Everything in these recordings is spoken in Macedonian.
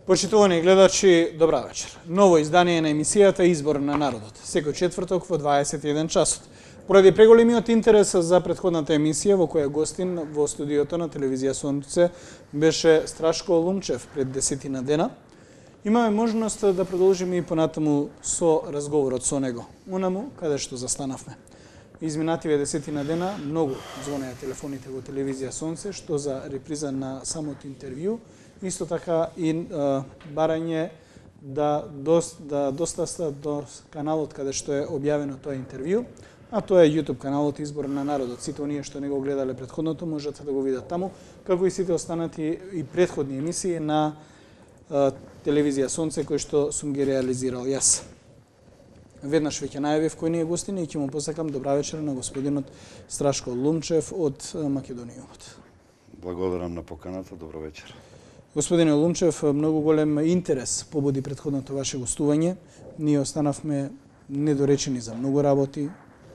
Почитувани гледачи, добра вечер. Ново издание на емисијата Избор на народот, секој четврток во 21 часот. Поради преголемиот интерес за претходната емисија во која гостин во студиото на телевизија Сонце беше Страшко Лумчев пред 10 дена, имаме можност да продолжиме и понатаму со разговорот со него, онаму каде што застанавме. Изминативе 10 дена многу звонеа телефоните во телевизија Сонце, што за реприза на самото интервју, исто така и барање да достаста до каналот каде што е објавено тоа интервју, а тоа е YouTube каналот Избор на народот. Сите оние што не го гледале претходното можат да го видат таму, како и сите останати и претходни емисии на телевизија Сонце кои што сум ги реализирал јас. Веднаш веќе најавив кој ни е гостин и ќе му посакам добра вечер на господинот Страшко Лумчев од Македонијумот. Благодарам на поканата, добро вечер. Господине Лумчев, многу голем интерес побуди претходното ваше гостување. Ние останавме недоречени за многу работи.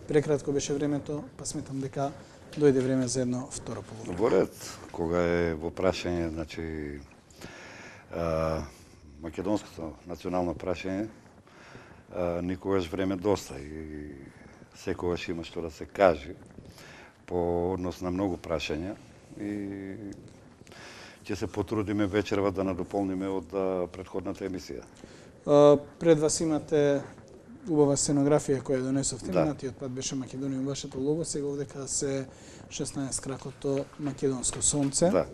Прекратко беше времето, па сметам дека дојде време за едно второ поговорение. Во ред, кога е во прашање, значи македонското национално прашање, никогаш време доста и секогаш има што да се каже по однос на многу прашања и ќе се потрудиме вечерва да надополниме од претходната емисија. Пред вас имате убава сценографија која донесовте. Да. Минатиот пат беше Македонија, вашето лого, сега овдека се 16 кракото македонско сонце. Да.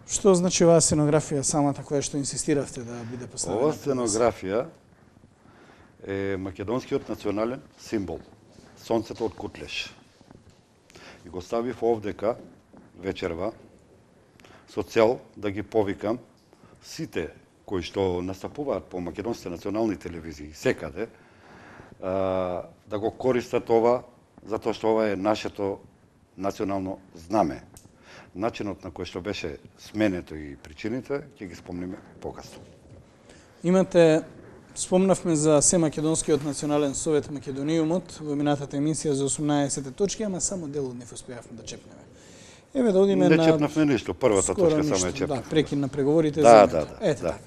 Што значи оваа сценографија самата која што инсистиравте да биде поставена? Ова сценографија е македонскиот национален символ, сонцето од Кутлеш. И го ставив овдека вечерва со цел да ги повикам сите кои што настапуваат по македонските национални телевизии секаде да го користат ова, затоа што ова е нашето национално знаме. Начинот на кој што беше сменето и причините ќе ги спомниме покасно. Спомнавме за Семакедонскиот национален совет Македонијумот во минатата емисија за 18 точки, ама само дел од нив успеавме да чепнеме. Еве да одиме не на... Не чепнавме ништо, првата точка само е чепнавме. Да, прекин на преговорите да, за ето така.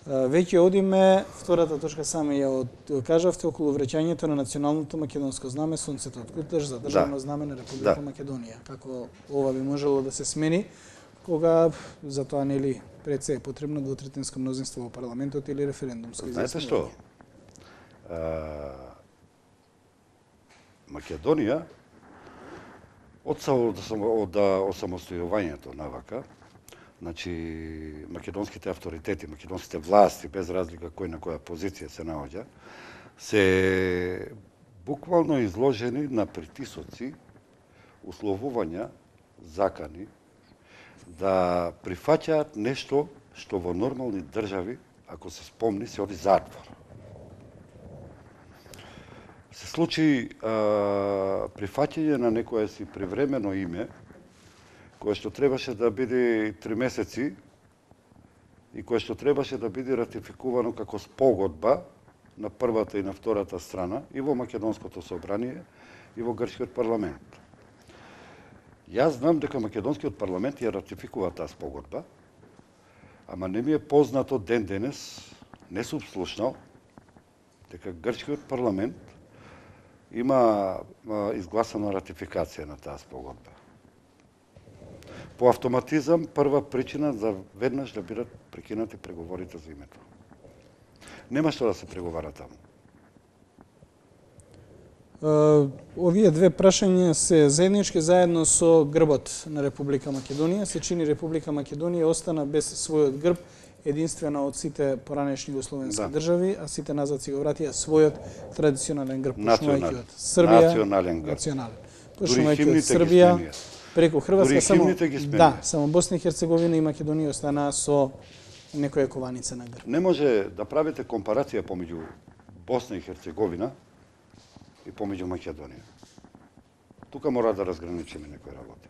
Веќе одиме, втората точка само ја кажавте околу вреќањето на националното македонско знаме сонцето од Кутлеш за државно знаме на Република Македонија. Како ова би можело да се смени, кога за тоа нели пред се е потребно двотретинско мнозинство во парламентот или референдумско изјаснување? Знаете што? Македонија од осамостојувањето навака, значи македонските авторитети, македонските власти, без разлика кој на која позиција се наоѓа, се буквално изложени на притисоци, условувања, закани, да прифаќаат нешто што во нормални држави, ако се спомни, се оди затвор. Се случи прифаќање на некое си привремено име, кое што требаше да биде 3 месеци и кое што требаше да биде ратификувано како спогодба на првата и на втората страна и во Македонското собрание и во Грчкиот парламент. Јас знам дека Македонскиот парламент ја ратификува таа спогодба, ама не ми е познато ден денес, не сум слушнал, дека Грчкиот парламент има изгласана ратификација на таа спогодба. По автоматизам, прва причина за веднаш да бидат прекинати преговорите за името. Нема што да се преговара таму. Овие две прашања се заеднички заедно со грбот на Република Македонија. Се чини Република Македонија остана без својот грб, единствена од сите поранешни југословенски држави, а сите назад си го вратија својот традиционален грб, почнувајќи од Србија, национален грб. Почнувајќи од Србија, преку Хрватска само Босна и Херцеговина и Македонија останаа со некоја кованица на грб. Не може да правите компарација помеѓу Босна и Херцеговина и помеѓу Македонија. Тука мора да разграничиме некои работи.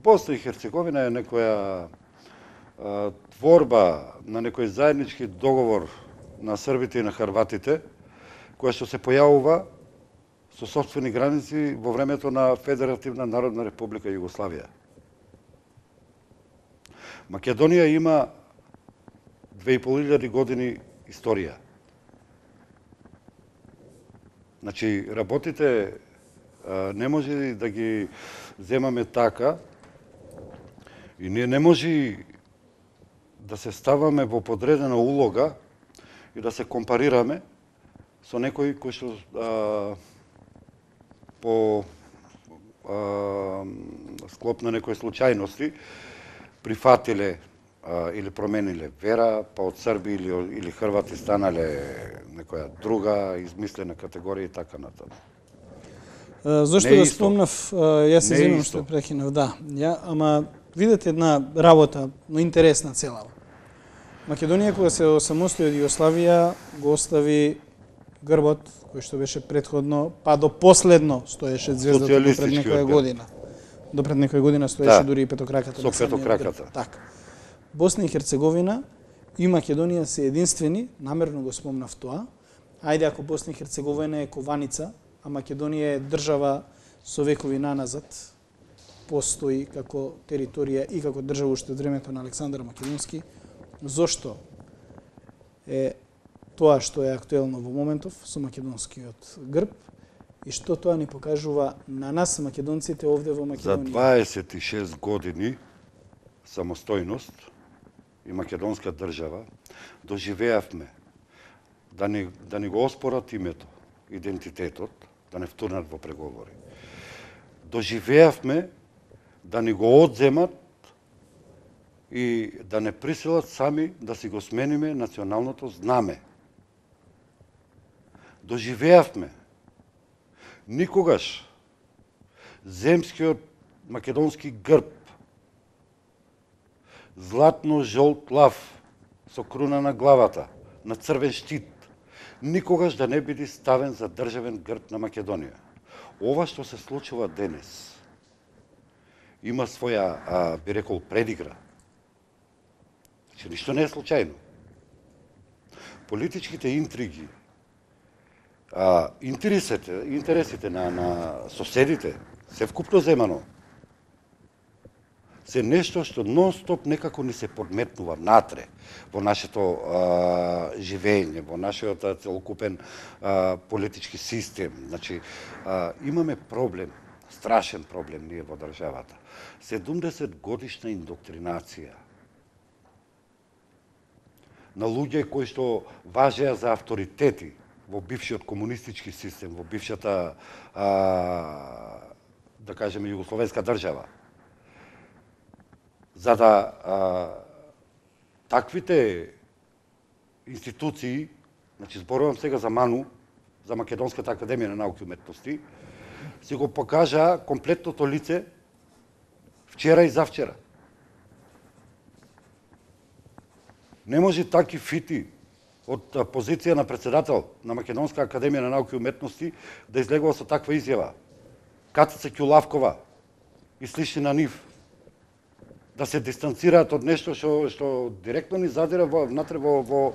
Босна и Херцеговина е некоја творба на некој заеднички договор на србите и на хрватите, која што се појавува со сопствени граници во времето на Федеративна Народна Република Југославија. Македонија има 2500 години историја. Значи, работите не може да ги земаме така и ние не може да се ставаме во подредена улога и да се компарираме со некои кои што по склоп на некои случајности прифатиле или промениле вера, па од Срби или Хрвати станале некоја друга измислена категорија и така натаму. Зошто го спомнав, јас се извинувам што прекинав, да. Ама видете една работа, но интересна целава. Македонија кога се осамостои од Југославија го остави грбот кој што беше претходно, па до последно стоеше звездата до пред некоја година. До пред некоја година стоеше дури и петокраката. Со петокраката. Така. Босна и Херцеговина и Македонија се единствени, намерно го спомнав тоа. Ајде ако Босна и Херцеговина е кованица, а Македонија е држава со векови наназад, постои како територија и како држава уште од времето на Александар Македонски, зошто е тоа што е актуелно во моментов со македонскиот грб и што тоа ни покажува на нас македонците овде во Македонија? За 26 години самостојност и македонска држава доживеавме да ни го оспорат името, идентитетот, да не втурнат во преговори. Доживеавме да ни го одземат и да не присилат сами да си го смениме националното знаме. Доживеавме никогаш земскиот македонски грб, златно-жолт лав со круна на главата, на црвен штит, никогаш да не биде ставен за државен грб на Македонија. Ова што се случува денес има своја, би рекол, предигра. Че ништо не е случајно. Политичките интриги, интересите на соседите, се вкупно земано, се нешто што нон-стоп некако ни се подметнува натре во нашето живење, во нашиот целокупен политички систем. Значи, имаме проблем, страшен проблем ние во државата. 70 годишна индоктринација на луѓе кои што важеа за авторитети во бившиот комунистички систем, во бившата, да кажеме, југословенска држава. За да таквите институции, значи зборувам сега за МАНУ, за Македонската академија на науки и уметности, си го покажа комплетното лице вчера и завчера. Не може таки фити од позиција на председател на Македонска академија на науки и уметности да излегува со таква изјава. Катица Ќулавкова и слични на нив да се дистанцираат од нешто што директно ни задира внатре во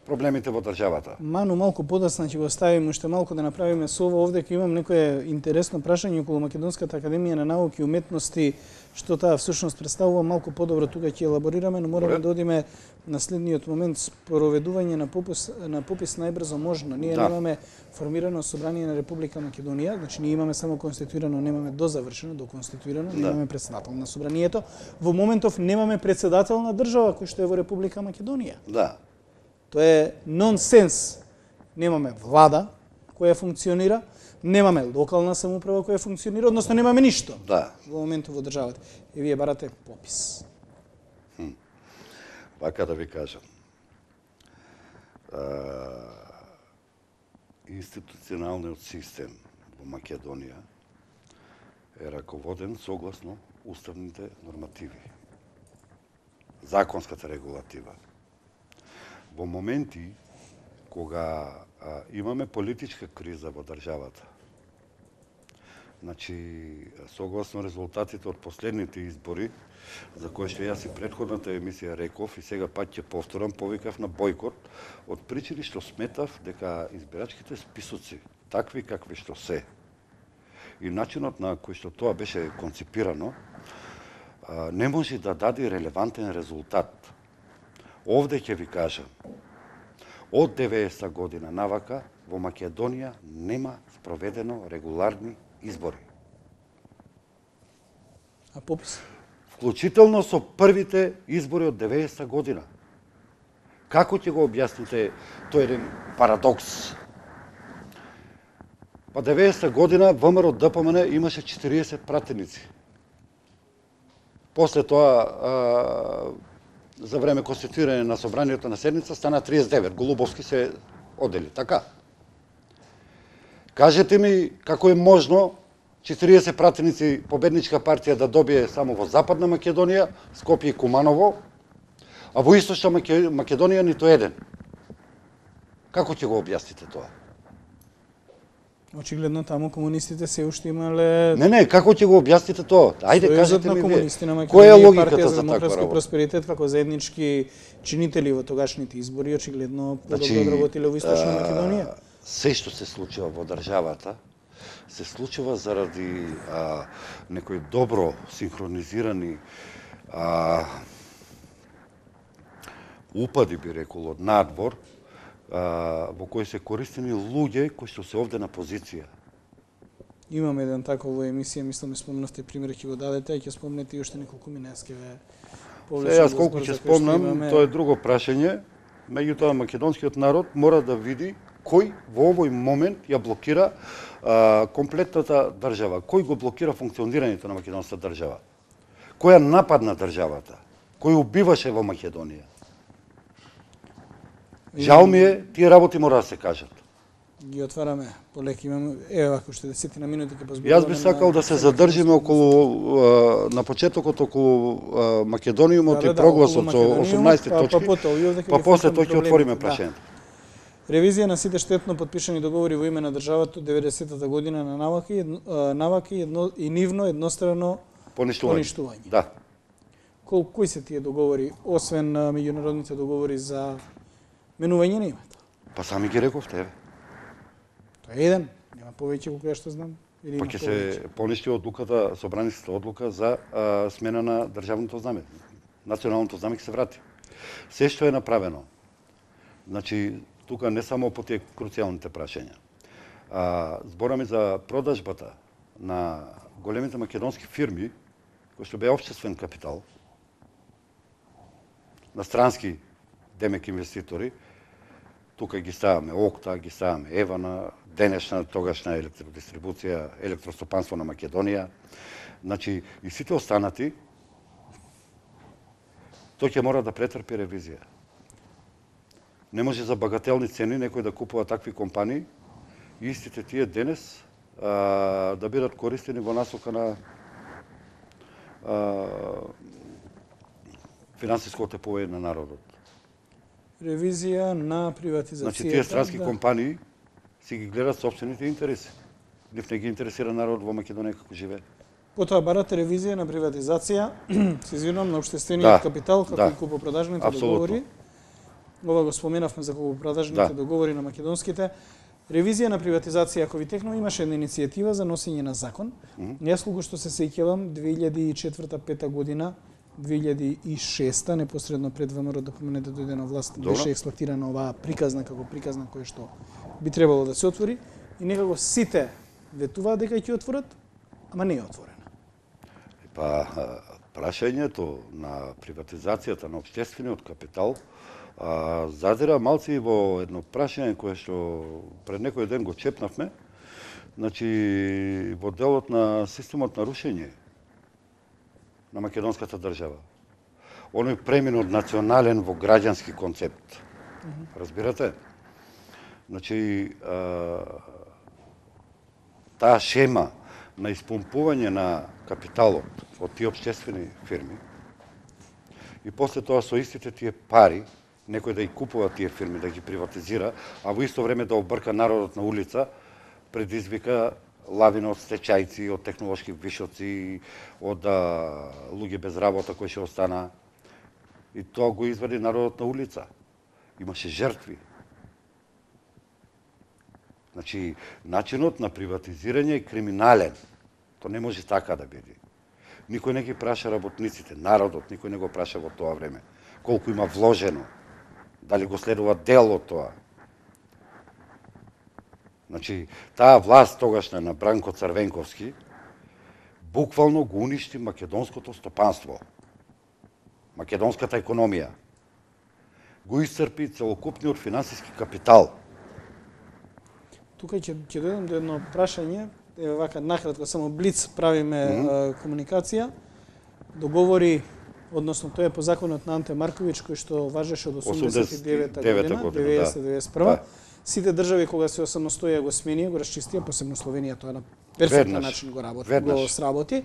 проблемите во државата. Ману, малку подасна ќе го ставим, уште малку да направиме со ова. Овде ќе имам некое интересно прашање околу Македонската академија на науки и уметности, што таа всушност представува, малку подобро тука ќе елаборираме, но мораме да одиме на следниот момент, спроведување на попис најбрзо можно. Ние немаме формирано собрание на Република Македонија, значи ние имаме само конституирано, немаме дозавршено, доконституирано, немаме председател на собранието. Во моментов немаме председател на држава кој што е во Република Македонија. Да. Тоа е нонсенс. Немаме влада која функционира, немаме локална самоуправа која функционира, односно немаме ништо во моментот во државата. И вие барате попис. Вака да ви кажам. Институционалниот систем во Македонија е раководен согласно уставните нормативи, законската регулатива. Во моменти кога имаме политичка криза во државата, значи, согласно резултатите од последните избори, за кои што јас и претходната емисија реков и сега пак ќе повторам, повикав на бойкот, од причини што сметав дека избирачките списоци, такви какви што се, и начинот на кој што тоа беше конципирано, не може да даде релевантен резултат Овде ќе ви кажам, од 90 година навака во Македонија нема спроведено регуларни избори. А попис? Вклучително со првите избори од 90 година. Како ќе го објасните тој еден парадокс? Па 90 година ВМРО ДПМН имаше 40 пратеници. После тоа, за време конституирање на собранието на седница, стана 39. Голубовски се одели, така? Кажете ми како е можно 40 пратеници Победничка партија да добие само во Западна Македонија, Скопје и Куманово, а во Источна Македонија ниту еден. Како ќе го објасните тоа? Очигледно таму комунистите се уште имале... Не, како ќе го објасните тоа? Ајде, кажете ми вие. Која Која е логиката за таква работа? Просперитет како заеднички чинители во тогашните избори, очигледно подобро работиле во Источна Македонија. Се што се случува во државата, се случува заради некои добро синхронизирани упади, би рекол, од надвор, во кои се користени луѓе кои што се овде на позиција. Имаме еден таков во емисија, мислам, спомнавте пример, ќе го дадете, а ќе спомнете и уште неколку минески повлечени. Јас колку ќе спомнам, тоа е друго прашање, меѓутоа македонскиот народ мора да види кој во овој момент ја блокира комплетната држава, кој го блокира функционирањето на македонската држава, кој ја нападна државата, кој убиваше во Македонија. Жал ми е, тие работи мора да се кажат. Ги отвараме полеки, имаме, ако ще 10 на минути ќе позборуваме. Јас би сакал да се задржиме околу на почетокот околу Македониумот и прогласот со 18 точки, па после тој ќе отвориме прашањето. Ревизија на сите штетно подпишани договори во име на државата од 90-та година на наваки и нивно еднострано поништување. Да. Кои се тие договори, освен меѓународните договори за менување на името? Па сами ги рековте. Тоа е еден, нема повеќе колку што знам. Па ќе се поништи одлуката, собраницата одлука за смена на државното знаме. Националното знаме ќе се врати. Се што е направено. Значи, тука не само по тие круцијалните прашања. Збораме за продажбата на големите македонски фирми, кои што беа општествен капитал, на странски демек инвеститори. Тука ги ставаме Окта, ги ставаме Евана, денешна, тогашна електродистрибуција, електростопанство на Македонија. Значи, и сите останати, тој ќе мора да претрпи ревизија. Не може за багателни цени некој да купува такви компании и истите тие денес да бидат користени во насока на финансиско отепување на народот. Ревизија на приватизацијата. Значи, тие странски компании си ги гледат собствените интереси. Нив не ги интересира народ во Македонија како живее. Потоа барате ревизија на приватизација, се извинувам, на општествениот капитал, како и купопродажните договори. Ова го споменавме за купопродажните договори на македонските. Ревизија на приватизација, ако ви текнува, имаше една иницијатива за носење на закон. Јас колку што се сеќавам, 2004-2005 година, 2006 непосредно пред ВМРО ДПМН да дојде на власт, беше експлоатирана оваа приказна како приказна која што би требало да се отвори и некако сите ветуваат дека ќе отворат, ама не е отворена. Па прашањето на приватизацијата на општествениот капитал задира малци и во едно прашање кое што пред некој ден го чепнавме, значи во делот на системот на рушење на македонската држава. Оној премин од национален во граѓански концепт. Разбирате? Значи, таа шема на испомпување на капиталот од тие општествени фирми и после тоа со истите тие пари некој да ги купува тие фирми, да ги приватизира, а во исто време да обрка народот на улица, предизвика лавина од стечајци, од технолошки вишоци, од луѓе без работа кои ќе остана. И тоа го извади народот на улица. Имаше жртви. Значи, начинот на приватизирање е криминален. Тоа не може така да биде. Никој не ги праша работниците, народот, никој не го праша во тоа време. колку има вложено, дали го следува дел од тоа. Значи, таа власт тогашна на Бранко Црвенковски буквално го уништи македонското стопанство, македонската економија, го исцрпи целокупниот финансиски капитал. Тука ќе дојдам до едно прашање, еве вака накратко само блиц правиме комуникација. Договори, односно тоа е по законот на Анте Марковиќ кој што важеше од 89-та година, 90-91. Сите држави кога се осамостоја го сменија, го расчистија, посебно Словенија, тоа на перфектен начин го сработи,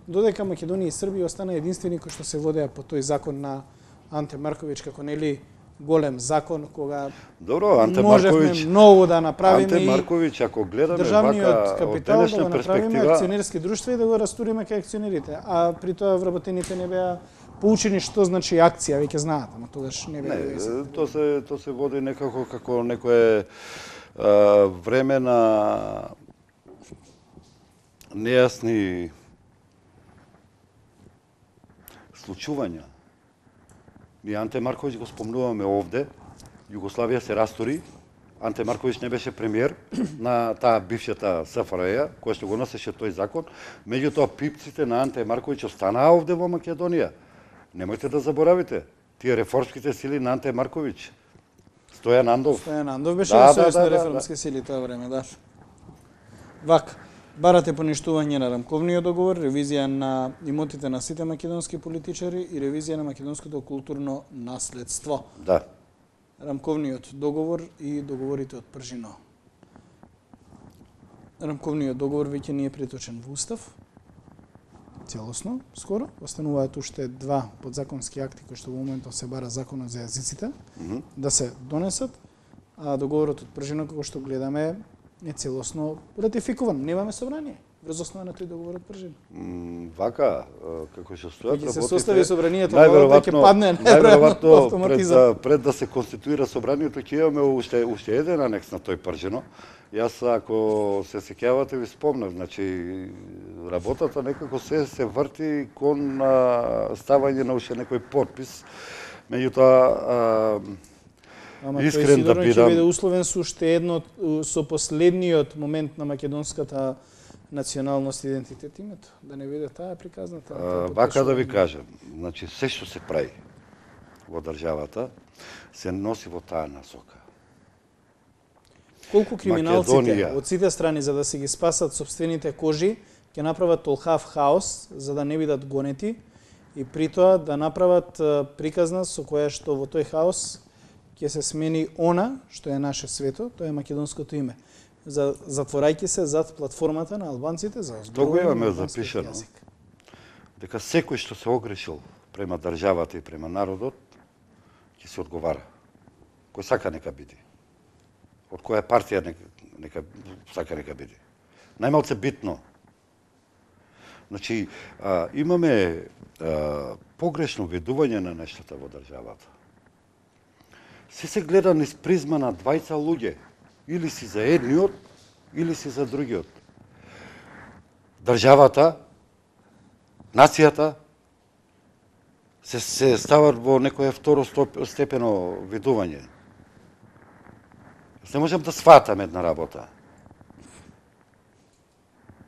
додека Македонија и Србија остана единствени кои што се водеа по тој закон на Анте Марковиќ како нели голем закон кога можевме многу да направиме. Анте Марковиќ, ако гледаме државниот капитал од да го направиме перспектива, акционерски друштва и да го растуриме кај акционерите, а при тоа вработените не беа поучени што значи акција, веќе знаат, ама тогаш не беа. Не, тоа се води некако како некое време на нејасни случувања. Ние Анте Марковиќ го спомнуваме овде, Југославија се растури, Анте Марковиќ не беше премиер на таа бившата СФРЈ, која што го носеше тој закон, меѓутоа пипците на Анте Марковиќ останаа овде во Македонија. Немојте да заборавите, тие реформските сили на Анте Марковиќ. Стојан Андов. Стојан Андов беше во Сојуз на реформски сили тоа време, да. Вака, барате поништување на рамковниот договор, ревизија на имотите на сите македонски политичари и ревизија на македонското културно наследство. Да. Рамковниот договор и договорите од Пржино. Рамковниот договор веќе не е преточен во устав, целосно, скоро. Остануваат уште два подзаконски акти кои што во моментот се бара законот за јазиците да се донесат, а договорот од Пржино како што гледаме е целосно ратификуван. Немаме собрание врз основа на тој договор од Пржино. Вака, како што стојат работите, работите, се состави собранието, најверојатно ќе падне најверојатно пред да се конституира собранието ќе имаме уште еден анекс на тој Пржино. Јас, ако се сеќавате, ви спомнав, значи, работата некако се врти кон ставање на уште некој подпис. Меѓутоа, искрен да бидам... Ќе биде условен со уште едно, со последниот момент на македонската националност и идентитет името, да не биде таа приказната. Вака да ви кажам, значи, се што се прави во државата, се носи во таа насока. Колку криминалците од сите страни за да се ги спасат собствените кожи, ќе направат толхав хаос за да не бидат гонети и при тоа да направат приказна со која што во тој хаос ќе се смени она што е наше свето, тоа е македонското име. Затворајќи се зад платформата на албанците за зборување на запишано јазик. Дека секој што се огрешил према државата и према народот ќе се одговара. Кој сака нека биде. Од која партија нека биде. Најмалце битно. Значи, имаме погрешно видување на нештата во државата. Се гледа низ призма на двајца луѓе. Или си за едниот, или си за другиот. Државата, нацијата, се стават во некоја второстепено видување. Не можам да сватам една работа.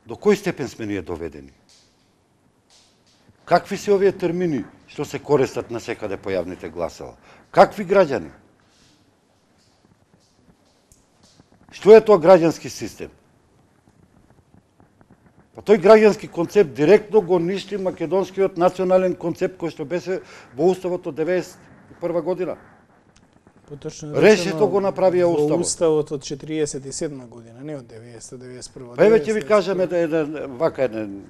До кој степен сме ние доведени? Какви се овие термини што се користат на секаде по јавните гласала? Какви граѓани? Што е тоа граѓански систем? Па тој граѓански концепт директно го ништи македонскиот национален концепт кој што беше во уставот од 91 година. Решето го направија уставот. Во уставот од 47 година, не од 90-91. Па еве ќе ви кажам еден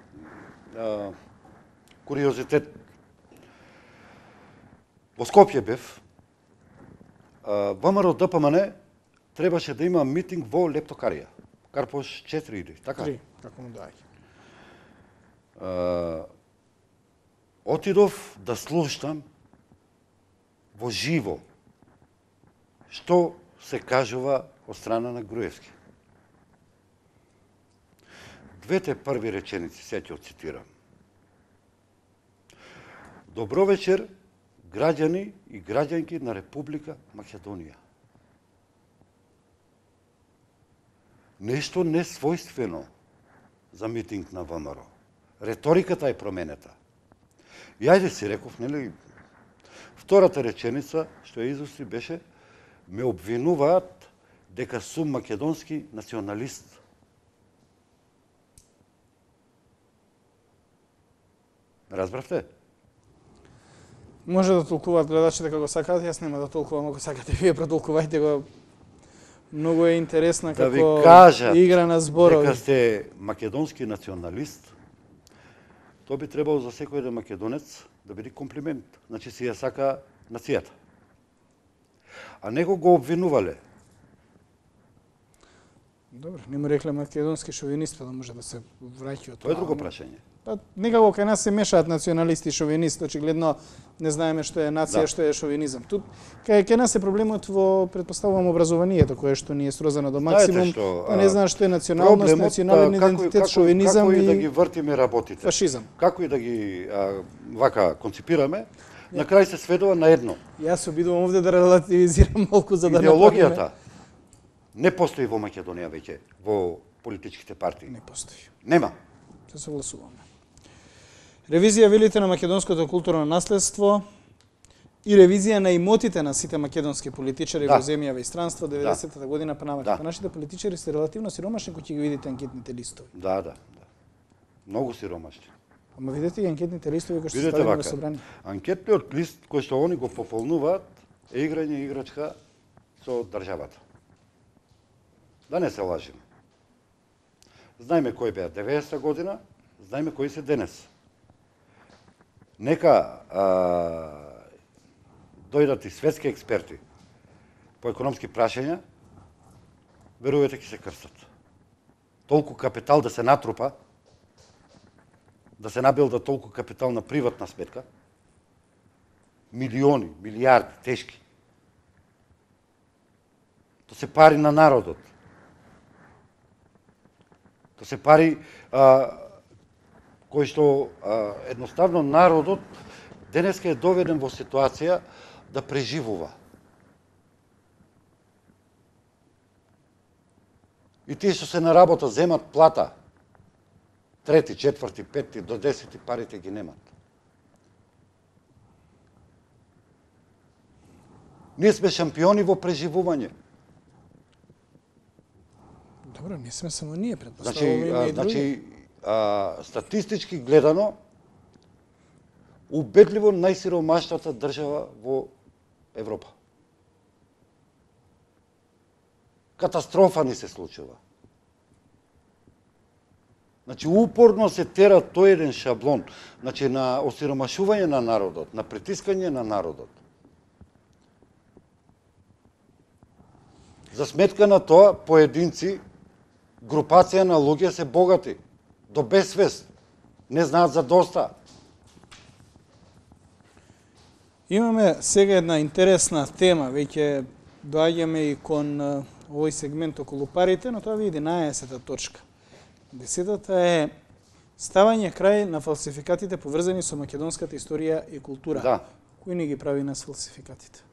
куриозитет. Во Скопје бев, ВМРО ДПМН требаше да има митинг во Лептокарија. Карпош 4 или така? 3, како му доаѓа. Отидов да слушнам во живо што се кажува од страна на Груевски. Двете први реченици, се ќе цитирам. Добро вечер, граѓани и граѓанки на Република Македонија. Нешто несвојствено за митинг на ВМРО. Реториката е променета. И ајде си реков, нели, втората реченица што ја изусти беше: ме обвинуваат дека сум македонски националист. Разбравте? Може да толкуваат гледачите како сакаат, јас нема да толкувам, ако сакате вие протолкувајте го. Многу е интересна Да ви како кажат игра на зборови. дека сте македонски националист, тоа би требало за секој еден македонец да биде комплимент. Значи си ја сака нацијата. А него го обвинувале. Добро, не му рекле македонски шовинист, па да може да се враќа од Тоа е друго прашање. Па некако кај нас се мешаат националисти и шовинисти, очигледно не знаеме што е нација, што е шовинизам. Тут кај нас е проблемот во, предпоставувам, образованието, кое што ни е срозано до максимум, па не знаеш што е националност, национален идентитет, шовинизам како и да ги и вртиме работите. фашизам. Како и да ги вака конципираме, на крај се сведува на едно. Јас се обидувам овде да релативизирам малку за да идеологијата не постои во Македонија веќе, во политичките партии. Не постои. Нема. Се согласуваме. Ревизија, велите, на македонското културно наследство и ревизија на имотите на сите македонски политичари во земјава и странство 90-та година па навака. Нашите политичари се релативно сиромашни кога ќе ги видите анкетните листови. Да. Многу сиромашни. Ама видете и анкетните листови кои што се Видете ставени во вака, собрание. анкетниот лист кој што они го пополнуваат е играње играчка со државата. Да не се лажиме. Знаеме кој беа 90-та година, знаеме кои се денес. Нека дојдат и светски експерти по економски прашања, верувате ќе се крстат. Толку капитал да се натрупа, да се набилда толку капитал на приватна сметка, милиони, милиарди, тешки. То се пари на народот. То се пари кои што едноставно народот денеска е доведен во ситуација да преживува. И тие што се на работа земат плата, 3, 4, 5 до 10 парите ги немат. Ние сме шампиони во преживување. Добро, не сме само ние, предпоставуваме и други. Статистички гледано, убедливо најсиромашната држава во Европа. Катастрофа ни се случува. Значи, упорно се тера тој еден шаблон, значи, на осиромашување на народот, на притискање на народот. За сметка на тоа, поединци, групација на луѓе се богати, до безсвест, не знаат за доста. Имаме сега една интересна тема, веќе доаѓаме и кон овој сегмент околу парите, но тоа ви 11-та точка. 10-та е ставање крај на фалсификатите поврзани со македонската историја и култура. Да. Кој не ги прави нас фалсификатите?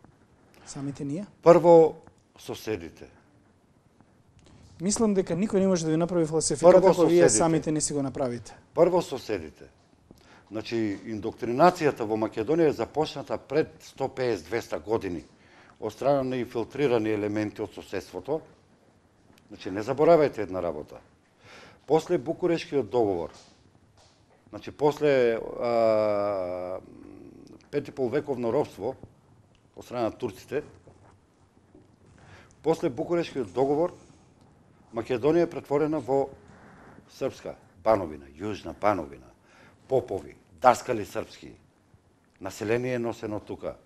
Самите ние? Прво, соседите. Мислам дека никој не може да ви направи фалсификат ако вие самите не си го направите. Прво соседите. Значи, индоктринацијата во Македонија е започната пред 150-200 години од страна на инфилтрирани елементи од соседството. Значи, не заборавајте една работа. После Букурешкиот договор, значи, после 5,5 вековно робство од страна на турците, после Букурешкиот договор, Македонија е претворена во српска Бановина, јужна Бановина, попови, даскали српски, население носено тука.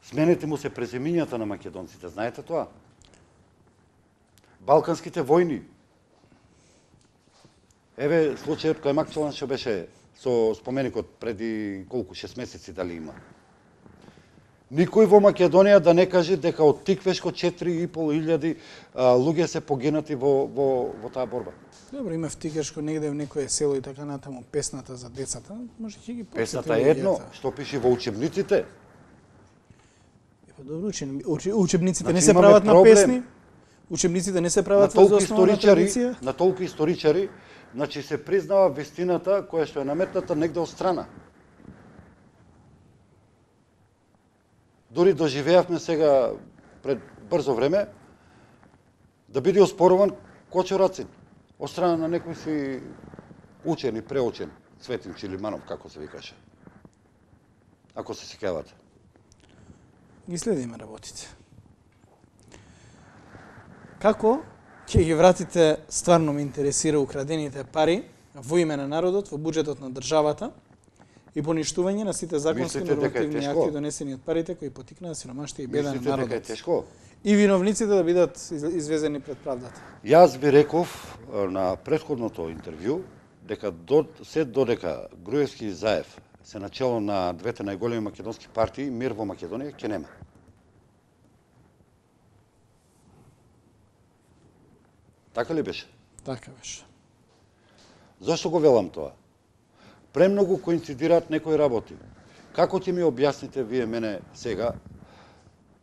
Сменете му се преземињата на македонците, знаете тоа? Балканските војни. Еве случајот кој Макчелан што беше со споменикот преди колку 6 месеци дали има. Никој во Македонија да не каже дека од Тиквешко 4,5 илјади луѓе се погинати во таа борба. Добро, има втикашко негде в некое село и така натаму песната за децата, може ќе ги Песната е едно, што пише во учебниците. Добро, учебниците Значи, не се имаме прават на проблем. песни. Учебниците не се На прават толку во основна историчари, традиција. на толку историчари, значи се признава вистината која што е наметната негде од страна. Дори доживеавме сега пред брзо време да биде оспоруван Кочо Рацин од страна на некој си учен и преучен Цветин Чилиманов, како се викаше. Ако се сеќавате. Ги следиме работите. Како ќе ги вратите, стварно ме интересира, украдените пари во име на народот во буџетот на државата и поништување на сите законски Мислите дека е нормативни тешко? акти донесени од парите кои потикнаа сиромаштија и беда на Мислите дека е народот. тешко? И виновниците да бидат извезени пред правдата. Јас ви реков на претходното интервју дека се додека Груевски и Заев се начело на двете најголеми македонски партии, мир во Македонија ќе нема. Така ли беше? Така беше. Зошто го велам тоа? Премногу коинцидираат некои работи. Како ќе ми објасните вие мене сега?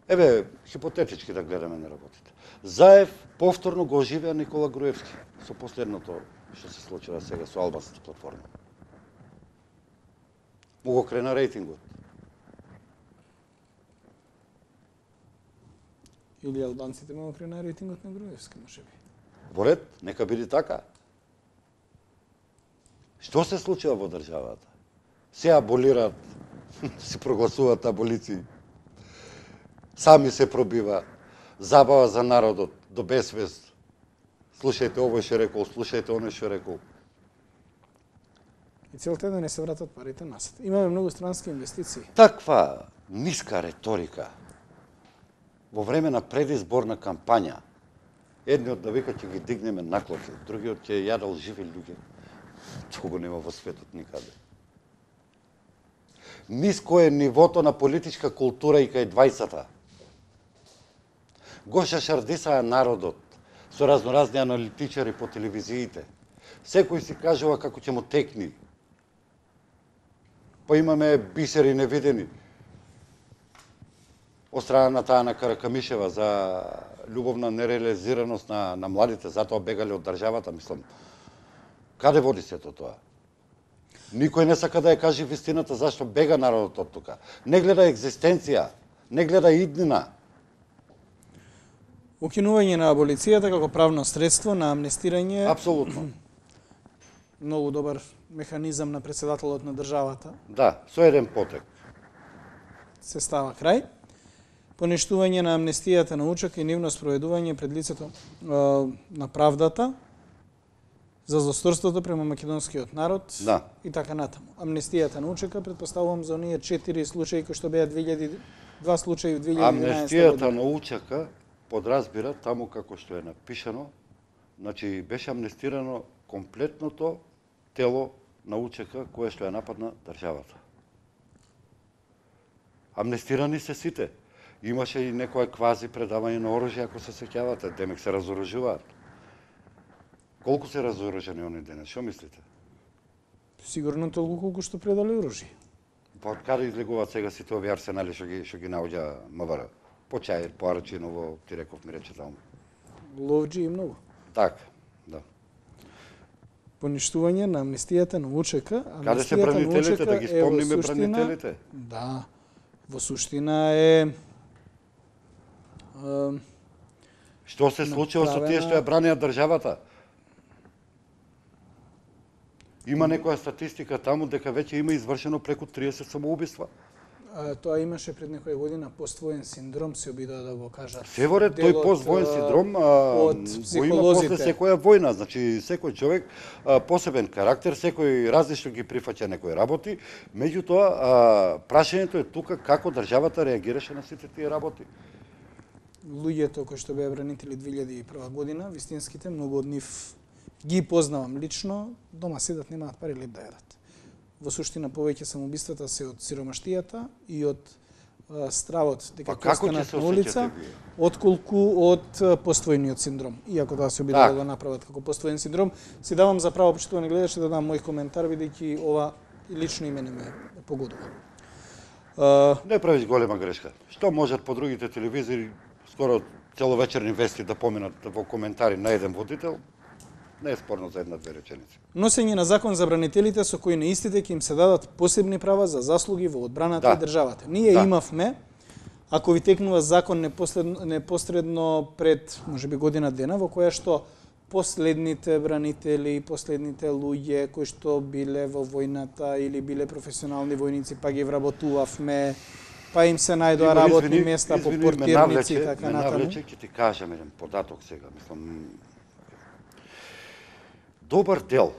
Еве, хипотетички да гледаме на работите. Заев повторно го оживеа Никола Груевски со последното што се случува сега со албанската платформа. Му го крена рейтингот. Или албанците му крена рейтингот на Груевски, може би. Во ред, нека биде така. Што се случува во државата? Се аболираат, се прогласуваат аболиции. Сами се пробива, забава за народот, до безвест. Слушајте овој што рекол, слушајте оној што рекол. И целта е да не се вратат парите назад. Имаме многу странски инвестиции. Таква ниска реторика во време на предизборна кампања. Едниот да вика ќе ги дигнеме наклоки, другиот ќе јадал живи луѓе. Тоа го нема во светот никаде. Ниско е нивото на политичка култура и кај двајцата. Го шашардисаа народот со разноразни аналитичари по телевизиите. Секој си кажува како ќе му текни. Па имаме бисери невидени. Од страна на таа на Каракамишева за љубовна нереализираност на младите, затоа бегале од државата, мислам. Каде води сето тоа? Никој не сака да ја каже вистината зашто бега народот од тука. Не гледа екзистенција, не гледа иднина. Укинување на аболицијата како правно средство на амнестирање. Апсолутно. Многу добар механизам на председателот на државата. Да, со еден потек. Се става крај. Поништување на амнестијата на учак и нивно спроведување пред лицето на правдата за злосторството према македонскиот народ, Да. и така натаму. Амнестијата на учека, предпоставувам за оние 4 случаи кои што беа 2 случаи в 2011 Амнестијата година. на учака подразбира таму како што е напишано, значи беше амнестирано комплетното тело на учека кое што ја нападна државата. Амнестирани се сите. Имаше и некоја квази предавање на оружје, ако се сеќавате, демек се разоружуваат. Колку се разоружени они денес, што мислите? Сигурно толку колку што предале оружје. Па од каде излегуваат сега сите овие арсенали што ги наоѓа МВР? По Чаир, по Арачиново, ти реков ми рече таму. Ловџи и многу. Така, да. Поништување на амнестијата на УЧК. Каде се бранителите, да ги спомниме бранителите? Да. Во суштина е Што се случило со тие што ја бранеа државата? Има некоја статистика таму дека веќе има извршено преку 30 самоубиства. Тоа имаше пред некоја година поствоен синдром, се обидоа да го кажат. Се во ред, тој поствоен синдром од го има после секоја војна. Значи, секој човек посебен карактер, секој различно ги прифаќа некои работи, меѓутоа прашањето е тука како државата реагираше на сите тие работи. Луѓето кои што беа бранители 2001 година, вистинските, многу од нив ги познавам лично, дома седат, немаат пари леп да јадат. Во суштина повеќе самоубиствата се од сиромаштијата и од стравот дека Па како ќе останат се на улица, осеќате вие? отколку од поствојниот синдром. Иако тоа се обидува да го направат како поствоен синдром, си давам за право, почитувани гледачи, да дам мој коментар, бидејќи ова лично и мене ме погодува. Не правиш голема грешка. Што можат по другите телевизии скоро целовечерни вести да поминат во коментари на еден водител? Не е спорно за една-две реченици. Носење на закон за бранителите со кои на истите ќе им се дадат посебни права за заслуги во одбраната и државата. Ние имавме, ако ви текнува закон непосредно пред, можеби година дена, во која што последните бранители, последните луѓе кои што биле во војната или биле професионални војници, па ги вработувавме, па им се најдоа работни места по портирници и така натаму. Навлече, ќе ти кажам еден податок сега, мислам. Добар дел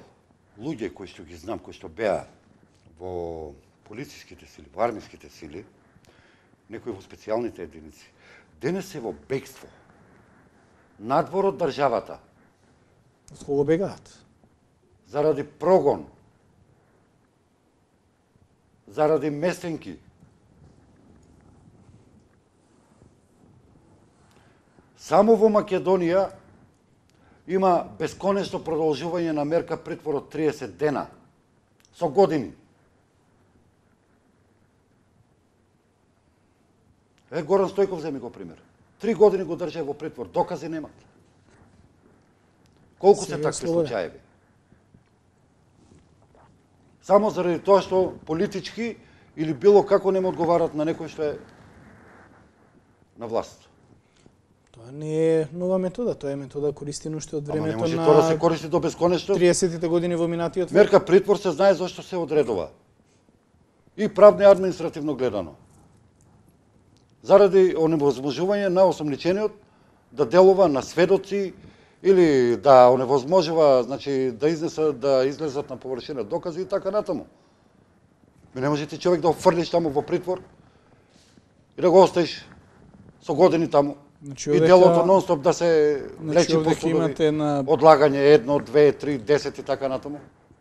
луѓе кои што ги знам, кои што беа во полициските сили, во армиските сили, некои во специјалните единици, денес се во бегство, надвор од државата. Од кого бегаат? Заради прогон, заради местенки. Само во Македонија има бесконечно продолжување на мерка притвор од 30 дена, со години. Горан Стојков земи го пример. 3 години го држа во притвор, докази немат. Колку се такви случаеви? Само заради тоа што политички или било како не му одговарат на некој што е на власт. Тоа не е нова метода, тоа е метода користена уште од времето на... Ама не може на... тоа да се користи до бесконечно. 30-тите години во минатиот век. Мерка притвор се знае зашто се одредува. И правно и административно гледано. Заради оневозможување на осомничениот да делува на сведоци или да оневозможува, значи да излезат на површина докази и така натаму. Не може ти човек да офрлиш таму во притвор и да го оставиш со години таму. Значи, и делото нон-стоп да се лечи по судови, одлагање 1, 2, 3, 10 и така натаму.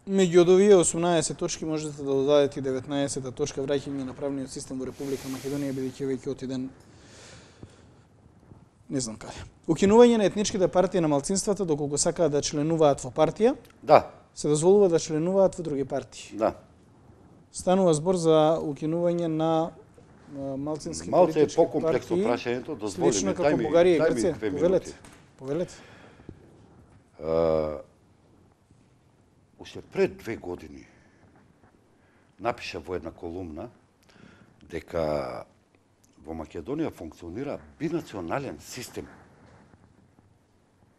Меѓу од овие 18 точки можете да додадете и 19-та точка враќање на правниот систем во Република Македонија, бидејќи веќе отиден не знам каде. Укинување на етничките партии на малцинствата доколку сакаат да членуваат во партија, се дозволува да членуваат во други партии. Станува збор за укинување на малцински политички партии. Малце е покомплексно прашањето, дозволи слично како Бугарија и Грција. Повелете. Уште пред 2 години напиша во една колумна дека во Македонија функционира бинационален систем.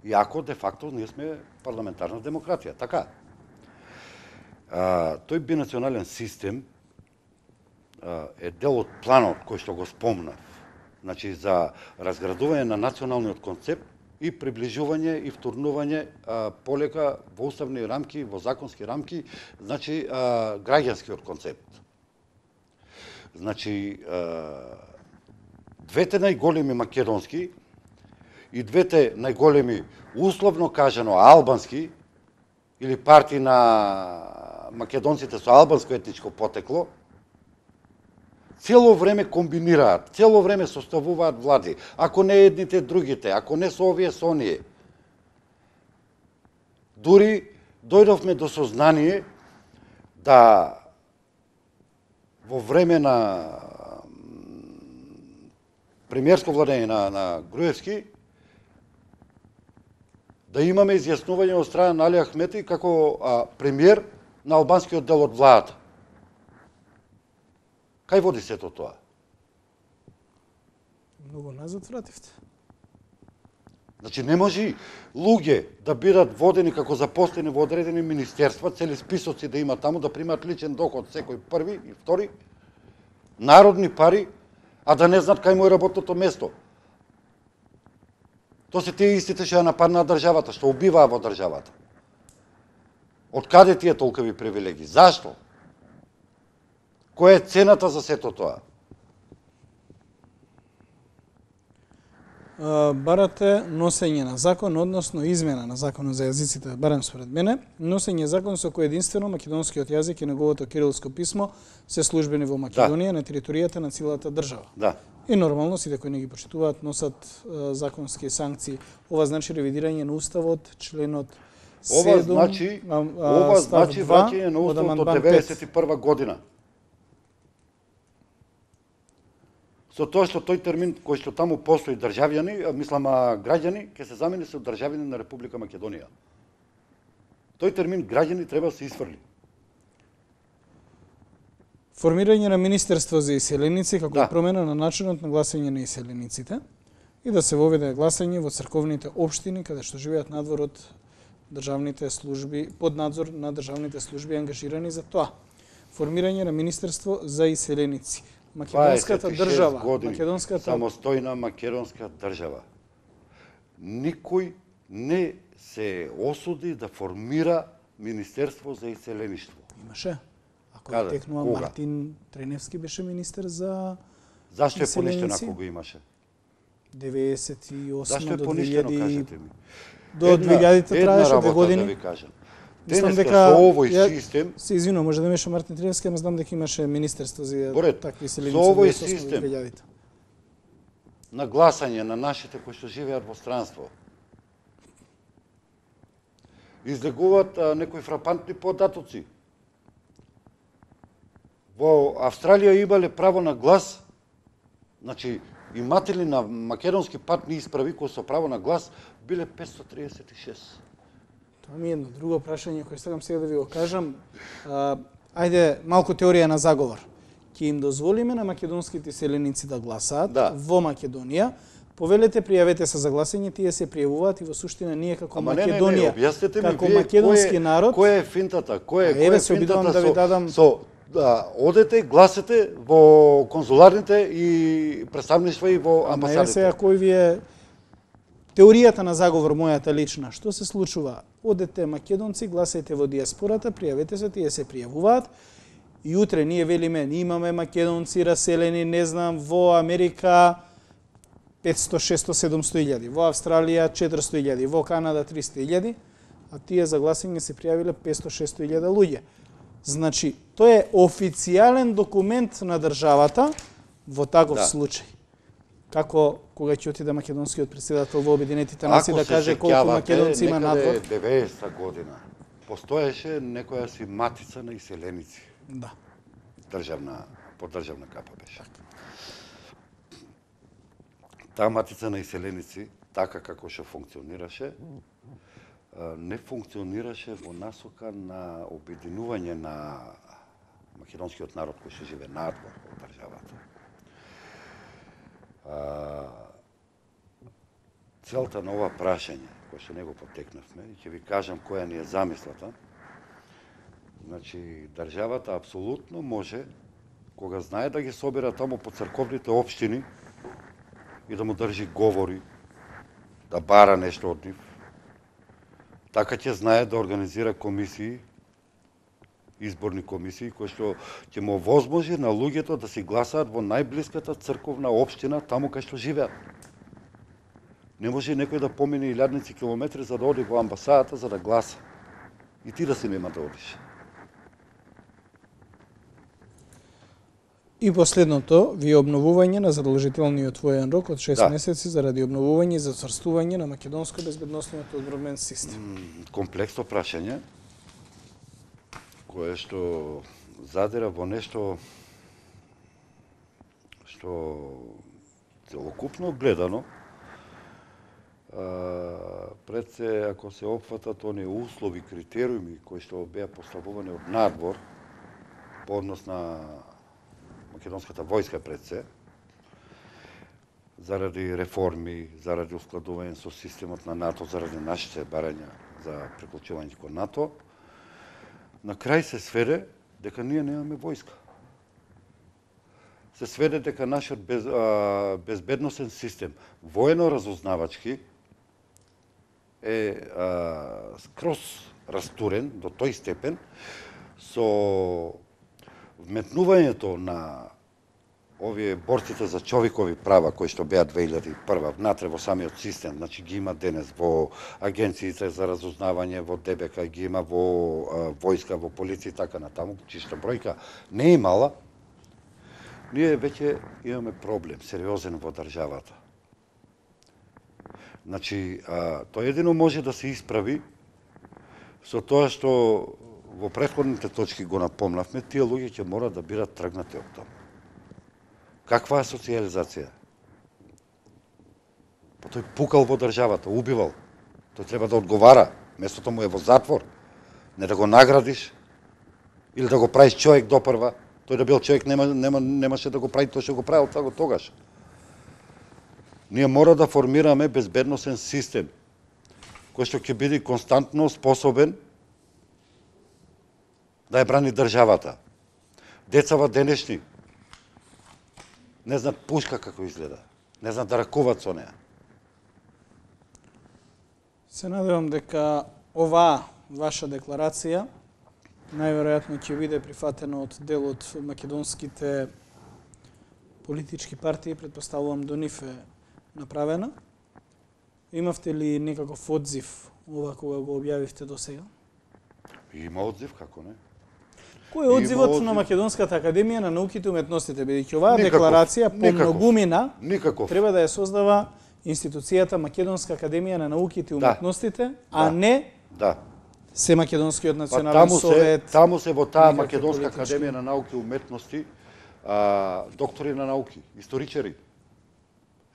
Иако, де факто, ние сме парламентарна демократија, така. Тој бинационален систем е дел од планот кој што го спомнав, значи за разградување на националниот концепт и приближување и втурнување полека во уставни рамки, во законски рамки, значи граѓанскиот концепт. Значи, двете најголеми македонски и двете најголеми, условно кажано, албански, или партии на македонците со албанско етничко потекло, цело време комбинираат, цело време составуваат влади, ако не едните, другите, ако не со овие, со оние. Дури дојдовме до сознание да во време на премиерско владење на Груевски да имаме изјаснување од страна на Али Ахмети како премиер на албанскиот дел од владата. Кај води сето тоа? Многу назад вративте. Значи, не може луѓе да бидат водени како запослени во одредени министерства, цели списоци да има таму, да примат личен доход секој први и втори, народни пари, а да не знаат кај му е работното место. Тоа се тие истите што ја нападнаа државата, што убиваа во државата. Од каде тие толкови привилегии? Зашто? Која е цената за сето тоа? барате носење на закон, односно измена на законот за јазиците, барем според мене, носење закон со кој единствено македонскиот јазик и неговото кирилско писмо се службени во Македонија, на територијата на целата држава. Да. И нормално сите кои не ги почитуваат носат законски санкции. Ова значи ревидирање на уставот, членот 7, ова значи враќање на уставот од 91 година. Со тоа што тој термин кој што таму постои државјани, мислам граѓани, ќе се замени со државјани на Република Македонија. Тој термин граѓани треба да се исфрли. Формирање на Министерство за иселеници како промена на начинот на гласање на иселениците и да се воведе гласање во црковните општини каде што живеат надвор од државните служби, под надзор на државните служби ангажирани за тоа. Формирање на Министерство за иселеници. Македонската држава, самостојна македонска држава. Никој не се осуди да формира Министерство за иселеништво. Имаше. Ако текнува Мартин Треневски беше министер за Зашто е поништено ако го имаше? 98 Зашто е до поништено, 2000 кажете ми? До 2000 траеше 2 години. Да ви кажам. Мислам Денеска дека со овој систем, се извинувам, може да беше Мартин Треневски, ама знам дека имаше министерство за такви иселеници. Со овој систем на гласање на нашите кои што живеат во странство излегуваат некои фрапантни податоци. Во Австралија имале право на глас, значи иматели на македонски патни исправи кои со право на глас биле 536. Тоа ми е едно друго прашање кое сакам сега да ви го кажам. Ајде, малку теорија на заговор. Ќе им дозволиме на македонските иселеници да гласаат во Македонија. Повелете, пријавете се за гласање, тие се пријавуваат и во суштина ние како Македонија, како македонски народ. Која е финтата? Која е финтата да ви дадам одете, гласате во конзуларните и представништва и во амбасадите. Ама сега кој ви е теоријата на заговор мојата лична? Што се случува? Одете македонци, гласајте во диаспората, пријавете се, тие се пријавуваат. И утре ние велиме, имаме македонци раселени, не знам, во Америка 500, 600, 700 илјади, во Австралија 400 илјади, во Канада 300 илјади, а тие за гласање се пријавиле 500-600 илјада луѓе. Значи, тоа е официјален документ на државата во таков случај. Како кога ќе отиде македонскиот председател во Обединетите нации да каже колку македонци има надвор? Ако се сеќавате, 90-та година постоеше некоја си матица на иселеници. Да. Поддржавна капа беше. Таа матица на иселеници, така како што функционираше, не функционираше во насока на обединување на македонскиот народ кој што живее надвор од државата. Целта на ова прашање, кој што него потекнавме, и ќе ви кажам која ни е замислата. Значи, државата апсолутно може, кога знае да ги собира таму по црковните општини и да му држи говори, да бара нешто од нив, така ќе знае да организира комисии, изборни комисии, кои што ќе му овозможи на луѓето да си гласаат во најблиската црковна општина, таму кај што живеат. Не може некој да помине илјадници километри за да оди во амбасадата за да гласа. И ти да си нема да одиш. И последното, ви обновување на задолжителниот воен рок од 6 месеци заради обновување и зацврстување на македонско-безбедносниот одбранбен систем. Комплексно прашање, кое што задира во нешто што целокупно гледано, пред се, ако се опфатат оние услови, критериуми кои што беа поставувани од надвор по однос на македонската војска пред се, заради реформи, заради ускладување со системот на НАТО, заради нашите барања за приклучување кон НАТО, на крај се сведе дека ние немаме војска. Се сведе дека нашиот безбедносен систем, воено-разузнавачки, е скроз растурен до тој степен со вметнувањето на овие борците за човекови права кои што беа 2001 внатре во самиот систем, значи ги има денес во агенциите за разузнавање, во ДБК, ги има во војска, во полиција и така натаму, чиста бројка не е мала. Ние веќе имаме проблем сериозен во државата. Значи, тоа едино може да се исправи со тоа што во претходните точки го напомнавме, тие луѓе ќе мора да бидат тргнати од таму. Каква е социализација? Па тој пукал во државата, убивал. Тој треба да одговара, местото му е во затвор, не да го наградиш или да го правиш човек допрва. Тој да бил човек немаше да го прави тоа што го правил тогаш. Ние мора да формираме безбедносен систем кој што ќе биде константно способен да ја брани државата. Децава денешни не знаат пушка како изгледа, не знаат да ракуваат со неа. Се надевам дека оваа ваша декларација најверојатно ќе биде прифатено од дел од македонските политички партии, претпоставувам до нив е направена. Имавте ли некаков одзив ова кога го објавивте до сега? Има одзив, како не? Кој е одзивот на Македонската академија на науките и уметностите, бидејќи оваа декларација по многумина треба да ја создава институцијата Македонска академија на науките и уметностите, а не се Македонскиот национален совет. Таму се во таа Македонска академија на науки и уметности доктори на науки, историчари,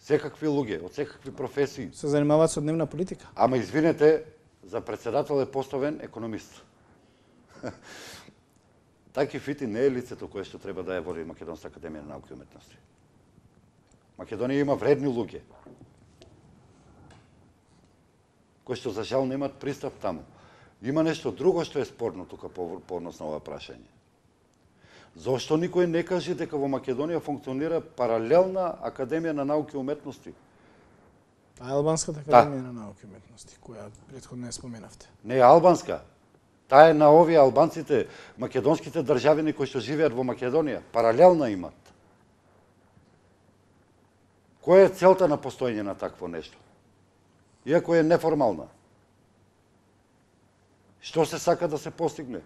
секакви луѓе, од секакви професии. Се занимаваат со дневна политика. Ама извинете, за председател е поставен економист. Таки Фити не е лицето кое што треба да ја води Македонска академија на науки и уметности. Македонија има вредни луѓе, кои што за жал немаат пристап таму. Има нешто друго што е спорно тука по однос на ова прашање. Зошто никој не каже дека во Македонија функционира паралелна академија на науки и уметности? Таа е Албанската академија на науки и уметности, која претходно не споменавте. Не е албанска. Таа е на овие албанците, македонските државини кои што живеат во Македонија. Паралелна имат. Која е целта на постоење на такво нешто? Иако е неформална. Што се сака да се постигне?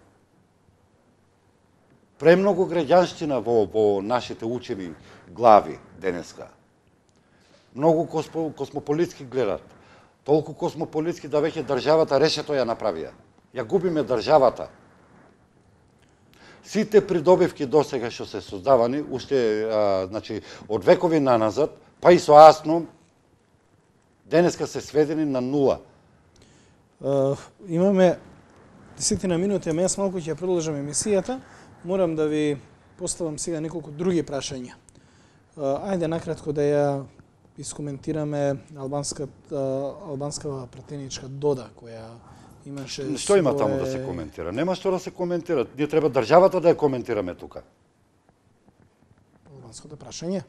Премногу граѓанщина во нашите учени глави денеска. Многу космополитски гледат. Толку космополитски да веќе државата решето ја направија. Ја губиме државата. Сите придобивки досега што се создавани, уште значи од векови наназад, па и со АСНО, денеска се сведени на нула. Имаме 10 минути, ама јас малку ќе продолжам емисијата. Морам да ви поставам сега неколку други прашања. Ајде накратко да ја искоментираме албанска пратеничка Дода, која имаше... Што има таму да се коментира? Нема што да се коментира. Ние треба државата да ја коментираме тука. Албанското прашање?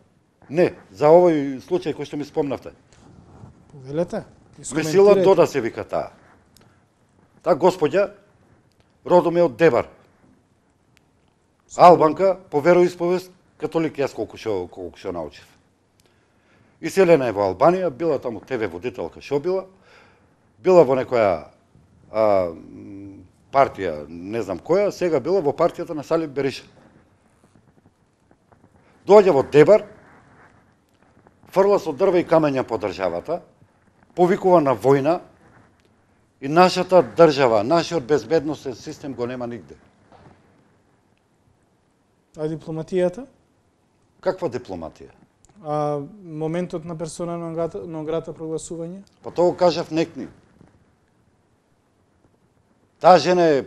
Не, за овој случај кој што ми спомнавте. Повелете. Весила Дода се вика таа. Таа господја родом е од Дебар. Албанка по вероисповест католик, јас колку што научив. Иселена е во Албанија, била таму ТВ водителка, што била во некоја партија, не знам која, сега била во партијата на Салим Бериша. Доаѓа во Дебар, фрла со дрва и камења по државата, повикува на војна и нашата држава, нашиот безбедносен систем го нема нигде. А дипломатијата? Каква дипломатија? А моментот на персона нон грата прогласување? Па тоа кажав некни. Таа жена е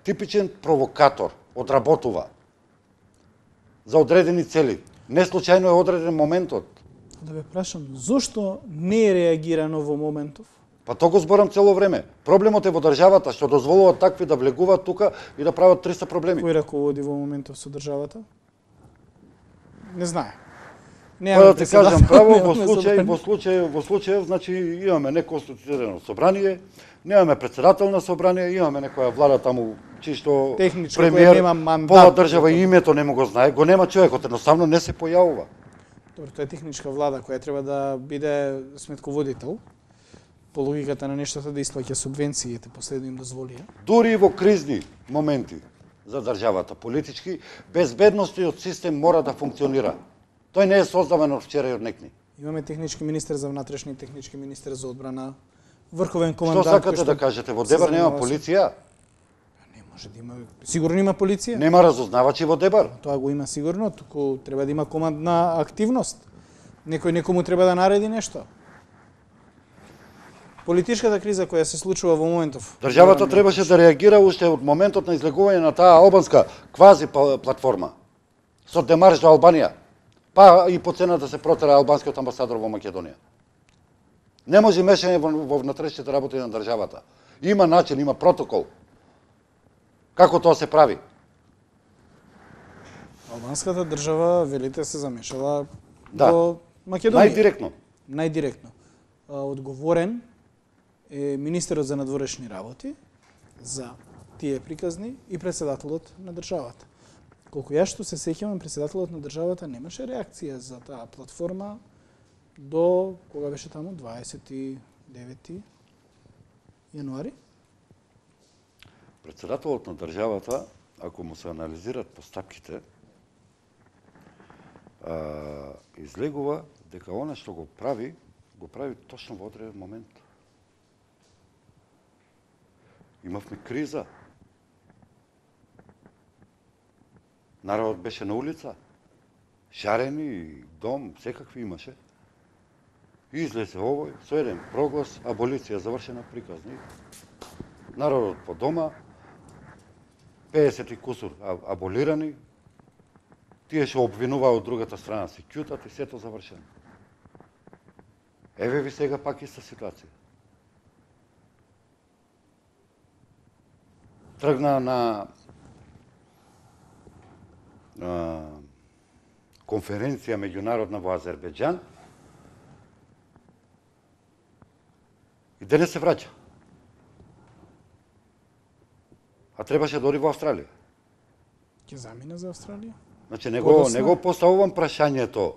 типичен провокатор, одработува за одредени цели. Не случајно е одреден моментот. Да ве прашам, зошто не е реагирано во моментов? Па тоа го зборам цело време. Проблемот е во државата што дозволуваат такви да влегуваат тука и да прават 300 проблеми. Кој раководи во моментов со државата? Не знае. Па да ти кажам право, во случај, значи имаме неконституирано собрание, немаме председател на собрание, имаме некоја влада таму случаи што Техничко, премиер кој нема мандат. пола држава и името не му го знае, го нема човекот, едноставно не се појавува. Добро, тоа е техничка влада која треба да биде сметководител по логиката на нештата да исплаќа субвенциите, последно им дозволија. Дури и во кризни моменти за државата, политички, безбедносниот систем мора да функционира. Тој не е создаван од вчера и од некни. Имаме технички министер за внатрешни, технички министер за одбрана, врховен Што командант. сакате да кажете? Во Дебар нема полиција? Не може да има. Сигурно има полиција. Нема разузнавачи во Дебар? Тоа го има сигурно, туку треба да има командна активност. Некој некому треба да нареди нешто. Политичката криза која се случува во моментов. Државата требаше да реагира уште од моментот на излегување на таа албанска квази платформа со демарш до Албанија, па и по цена да се протера албанскиот амбасадор во Македонија. Не може мешање во внатрешните работи на државата. Има начин, има протокол. Како тоа се прави? Албанската држава, велите, се замешала Да. во Македонија. Најдиректно. Најдиректно. Одговорен е министерот за надворешни работи за тие приказни и председателот на државата. Колку ја што се сеќавам, председателот на државата немаше реакција за таа платформа до кога беше таму 29 јануари. Председателот на државата, ако му се анализират постапките, излегува дека она што го прави точно во одреден момент. Имавме криза. Народот беше на улица. Шарени, дом, секакви имаше. И излезе овој, со еден проглас, аболиција завршена, приказни. Народот по дома, 50 и кусур аболирани, тие што обвинуваа од другата страна се ќутат и сето завршено. Еве ви сега пак иста ситуација. Тргна на конференција меѓународна во Азербејџан и денес се враќа. А требаше да оди во Австралија. Ќе замине за Австралија? Значи, не го поставувам прашањето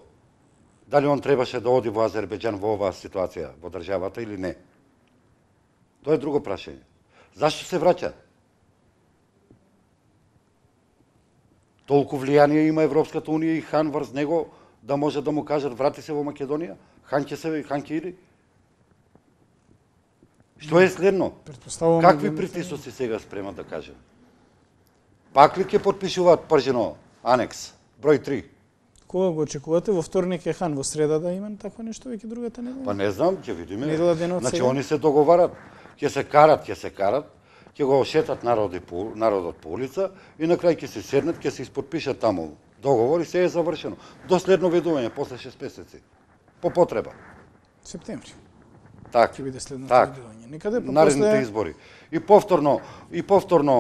дали он требаше да оди во Азербејџан во оваа ситуација, во државата или не. Тоа е друго прашање. Зашто се враќа? Толку влијание има Европската унија и Хан врз него да може да му кажат врати се во Македонија? Хан ќе иде? Што е следно? Какви притисоци сега спремат да кажем? Пак ли ќе потпишуваат пржено анекс, број 3? Кога го очекувате? Во вторник е Хан, во среда да има такво нешто, веќе другата недела? Па не знам, ќе видиме. Недела денот Значи, сега? они се договарат, ќе се карат, ќе го шетат народот по улица и на крај ќе се седнат, ќе се исподпишат таму договор и се е завршено. До следно видување, после 6 месеци. По потреба. Септември. Так. Ќе биде следното так. видување. Некаде по Наредните избори. И повторно предизборна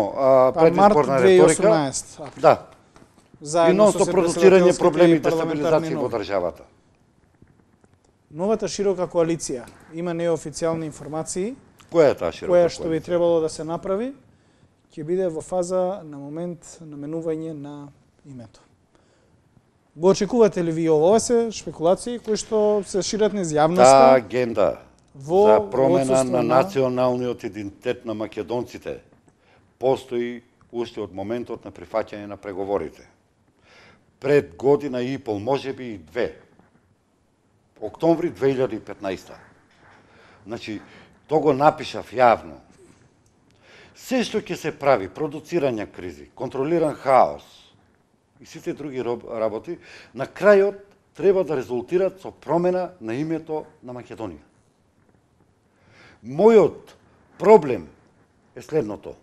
март реторика. 2018. април. Да. И Заедно нонсто со продуцирање председателските проблеми и и парламентарни дестабилизација во нови. државата. Новата широка коалиција има неофицијални информации Која е таа широка која што би коалиција? требало да се направи, ќе биде во фаза на момент наменување на името. Го очекувате ли ви ова се шпекулации кои што се шират низ Таа јавноста агенда во за промена отсуство на националниот идентитет на македонците постои уште од моментот на прифаќање на преговорите. Пред година и пол, можеби и 2. Октомври 2015. Значи, то го напишав јавно. Се што ќе се прави, продуцирање кризи, контролиран хаос и сите други работи, на крајот треба да резултират со промена на името на Македонија. Мојот проблем е следното.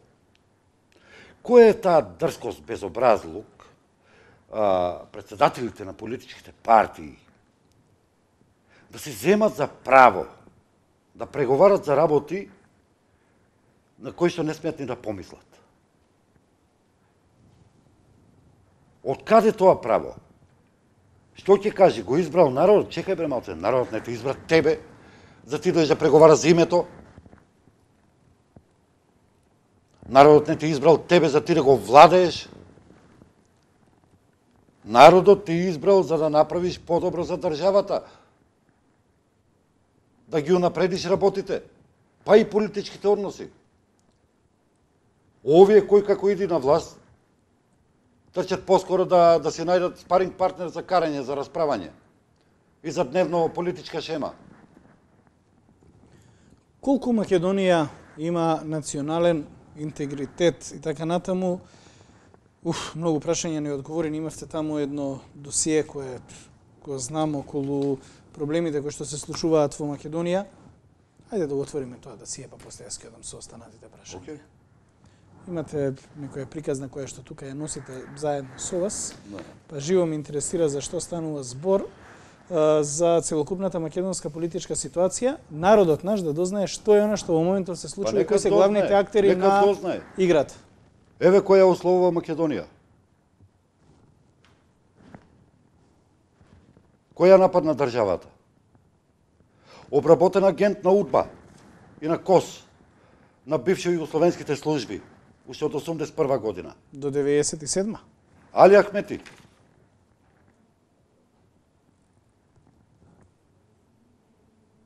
Кој е таа дрскост, безобразлук, председателите на политичките партии да се земат за право да преговарат за работи на кои што не смеат ни да помислат. Од каде тоа право? Што ќе каже? Го избрал народот? Чекај бре малце, народот не те избра тебе, за ти дојдеш да преговараш за името. Народот не те избрал тебе за ти да го владееш. Народот те избрал за да направиш подобро за државата. Да ги унапредиш работите, па и политичките односи. Овие кои како иди на власт, трчат поскоро да се најдат спаринг партнер за карање, за расправање и за дневно политичка шема. Колку Македонија има национален интегритет и така натаму? Многу прашања не одговорени. Имавте таму едно досие кое знам околу проблемите кои што се случуваат во Македонија. Ајде да го отвориме тоа досие, па после јас ќе одам со останатите прашања. Okay. Имате некоја приказна која што тука ја носите заедно со вас. Да. Па живо ме интересира за што станува збор за целокупната македонска политичка ситуација, народот наш да дознае што е она што во моментот се случува и кои се главните актери на играта. Еве која условува Македонија. Која нападна државата? Обработен агент на УДБА и на КОС, на бивши југословенските служби, уште од 81 година. До 97-ма. Али Ахмети.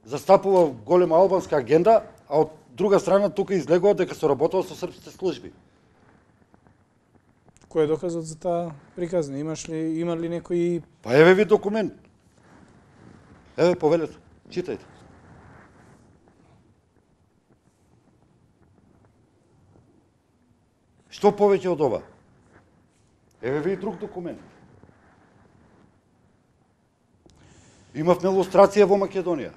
Застапува голема албанска агенда, а од друга страна тука излегува дека се работува со српските служби. Кој е доказот за таа приказна? Има ли некои... Па еве ви документ. Еве повелете, читајте. Што повеќе од ова? Еве ви и друг документ. Имавме лустрација во Македонија.